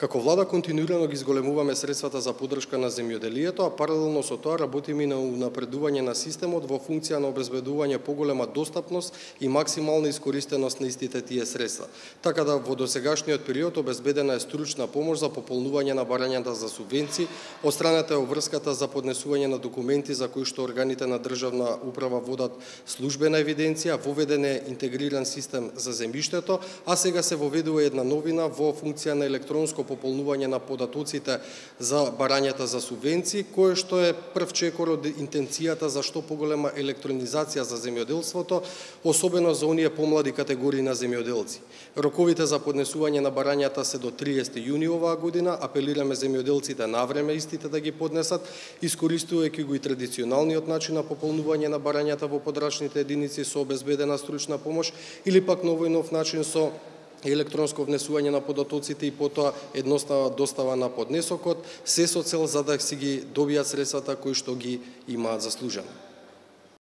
Како влада континуирано ги зголемуваме средствата за поддршка на земјоделието, а паралелно со тоа работиме на унапредување на системот во функција на обезбедување поголема достапност и максимална искористеност на истите тие средства. Така да во досегашниот период обезбедена е стручна помош за пополнување на барањата за субвенции, отстранета е обврската за поднесување на документи за кои што органите на државна управа водат службена евиденција, воведен е интегриран систем за земјиштето, а сега се воведува една новина во функција на електронско пополнување на податоците за барањата за субвенции, кое што е прв чекор од интенцијата за што поголема електронизација за земјоделството, особено за оние помлади категории на земјоделци. Роковите за поднесување на барањата се до 30 јуни оваа година, апелираме земјоделците навреме истите да ги поднесат, искористувајќи го и традиционалниот начин на пополнување на барањата во подрачните единици со обезбедена стручна помош или пак новој нов начин со електронско внесување на податоците и потоа едноставна достава на поднесокот, се со цел за да си ги добијат средствата кои што ги имаат заслужено.